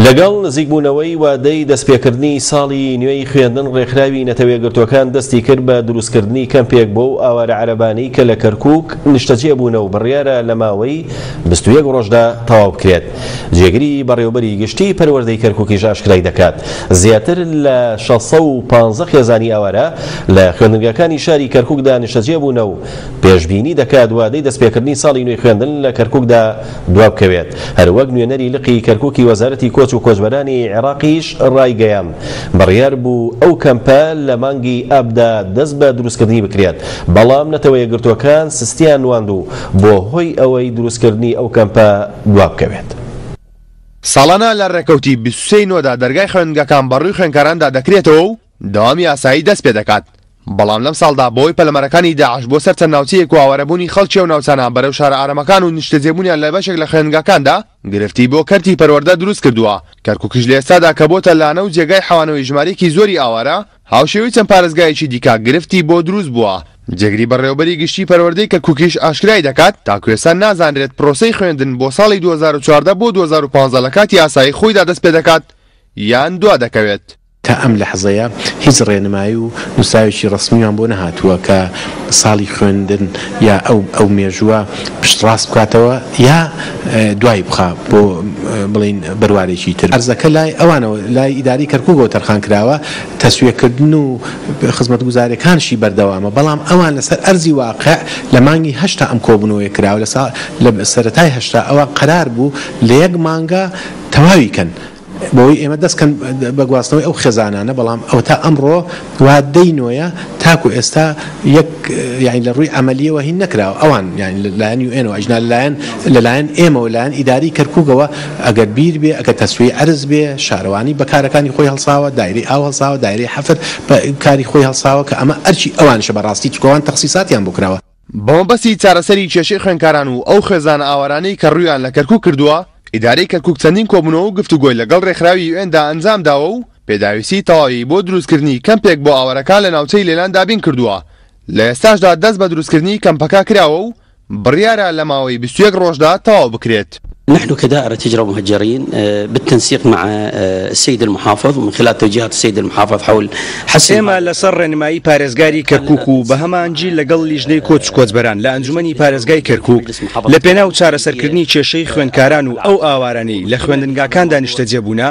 لەگەڵ نزیکبوونەوەی وادەی دەستپێکردنی ساڵی نوێی خوێندن ڕێکخراوی نەتەوەیەکگرتووەکان دەستی کرد بە دروستکردنی کەمپێک بۆ ئەو ئاوارە عەرەبانەی کە لە کەرکوک نیشتەجێ بوونە و بڕیارە لە ماوەی 21 ڕۆژدا تەواو بکرێت. جێگری بەڕێوەبەری گشتی پەروەردەی کەرکوکیش ئاشکرای دەکات زیاتر لە 615 خێزانی ئاوارە لە خوێندنگاکانی شاری کەرکوکدا نیشتەجێ بوونە و پێشبینی دەکات وادەی دەستپێکردنی ساڵی نوێی خوێندن لە کەرکوکدا دوابکەوێت. هەروەک نوێنەری لقی کەرکوکی وەزارەتی کۆچ و کۆچبەرانی عێراقیش ڕایگەیاند، بڕیار بوو ئەو کەمپە لە مانگی ئابدا دەست بە دروستکردنی بکرێت، بەڵام نەتەوە یەکگرتووەکان سستیان نواند و بووە هۆی ئەوەی دروستکردنی ئەو کەمپە دوابکەوێت. ساڵانە لە ڕێکەوتی 23 ی نۆدا دەرگای خوێندنگەکان بەڕووی خوێندکاراندا دەکرێتەوە و دەوامی ئاسایی دەست پێدەکات، بەڵام لەمساڵدا بەهۆی پەلەمارەکانی داعش بۆ سەر چەند ناوچەیەک و ئاوارەبوونی خەڵکی ئەو ناوچانە بەرەو شارە ئارامەکان و نیشتەجێبوونیان لە بەشێک لە خوێندنگاکاندا گرفتی بۆ کەرتی پەروەردە دروست کردووە. کەرکوکیش لە ئێستادا کە بۆتە لانە و جێگای حەوانەوەی ژمارەیەکی زۆری ئاوارە، هاوشێوەی چەند پارێزگایەکی دیکە گرفتی بۆ دروست بووە. جێگری بەڕێوەبەری گشتی پەروەردەی کەرکوکیش ئاشکرای دەکات، تاکو ئێستا نازانرێت پرۆسەی خوێندن بۆ ساڵی 2014 بۆ 2015 لە کاتی ئاسایی خۆیدا دەست پێدەکات یان دوا دەکەوێت. تا ئەم لەحزەیە هیچ ڕێنمایی و نووسراوێکی ڕەسمیمان بۆ نەهاتووە کە ساڵی خوێندن یا ئەو ئەو مێژووە پشتڕاست بکاتەوە یا دوای بخا بۆ بڵێین بەروارێکی تر. ئەرزەکە لای ئەوانەوە لای ئیدارەی کەرکووکەوە تەرخان کراوە، تەسویەکردن و خزمەتگوزارییەکانشی بەردەوامە، بەڵام ئەوان لەسەر ئەرزی واقع لە مانگی هەشتا ئەم کۆبوونەوەیە کراوە، لە سا لە سەرەتای هەشتا ئەوە قەرار بوو لە یەک مانگا تەواوی کەن. بەوەی ئێمە دەست کەن بە گواستنەوەی ئەو خێزانانە، بەڵام ئەوەتا ئەمڕۆ وادەی نۆیە تاکو ئێستا یەک یانی لە ڕووی عەمەلیەوە هین نەکراوە، ئەوان یانی لە لایەن یو ئێنەوە ئەجنا لەلایەن لەلایەن ئێمەوە لایەن ئیداری کەرکوکەوە ئەگەر بیر بێ ئەگەر تەسویەی عەرز بێ شارەوانی بە کارەکانی خۆی هەڵساوە دایرەی ئاو هەڵساوە دایرەی حەفر بە کاری خۆی هەڵساوە کە ئەمە ئەرکی ئەوانیشە بەڕاستی چونکە ئەوان تەخسیساتیان بۆ کراوە. بەمەبەستی چارەسەری کێشەی خوێندکاران و ئەو خێزانە ئاوارانەی کە ڕوویان لە کەرکوک کردووە، ئیدارەی کەرکوک چەندین کۆبوونەوە و گفتوگۆی لەگەڵ ڕێکخراوی یوئێندا ئەنجامداوە و پێداویستی تەواوی بۆ دروستکردنی کەمپێک بۆ ئاوارەکان لە ناوچەی لێلان دابین کردووە، لە ئێستاشدا دەست بە دروستکردنی کەمپەکە کراوە و بڕیارە لە ماوەی 21 ڕۆژدا تەواو بکرێت. نحن كدائرة هجرة ومهجرين بالتنسيق مع السيد المحافظ ومن خلال توجيهات السيد المحافظ حول حسم ئێمە لەسەر ڕێنمایی پارێزگاری کەرکوک و بە هەماهەنگی لەگەڵ لیژنەی کۆچ و کۆچبەران لە ئەنجومەنی پارێزگای کەرکوک لە پێناو چارەسەرکردنی کێشەی خوێندکاران و ئەو ئاوارانەی لە خوێندنگاکاندا نیشتەجێ بوونە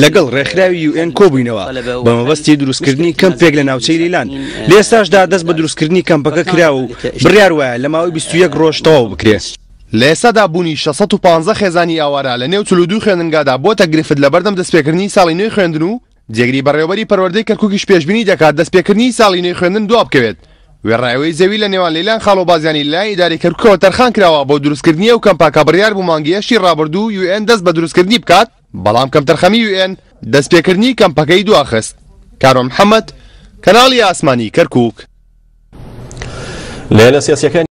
لەگەڵ ڕێکخراوی یو ئێن کۆبووینەوە بە مەبەستی دروستکردنی کەمپێک لە ناوچەی لیلان لە ئێستاشدا دەست بە دروستکردنی کەمپەکە کراوە و بڕیار وایە لە ماوەی 21 ڕۆژ تەواو بکرێ. لە ئێستادا بوونی 615 خێزانی ئاوارە لە نێو 42 خوێندنگادا بۆتە گرفت لەبەردەم دەستپێکردنی ساڵی نوێی خوێندن و جێگری بەڕێوەبەری پەروەردەی کەرکوکیش پێشبینی دەکات دەستپێکردنی ساڵی نوێی خوێندن دوابکەوێت وێڕای ئەوەی زەوی لە نێوان لەیلان خاڵۆ بازیانی لەلایەن ئیدارەی کەرکوکەوە تەرخان کراوە بۆ دروستکردنی ئەو کەمپە کە بڕیار بوو مانگی هەشتی ڕابردوو یو ئێن دەست بە دروستکردنی بکات بەڵام کەمتەرخەمی یو ئێن دەستپێکردنی کەمپەکەی دواخست. کاروان محەمەد، کەناڵی ئاسمانی کەرکوک. لایەنە سیاسیەکانی.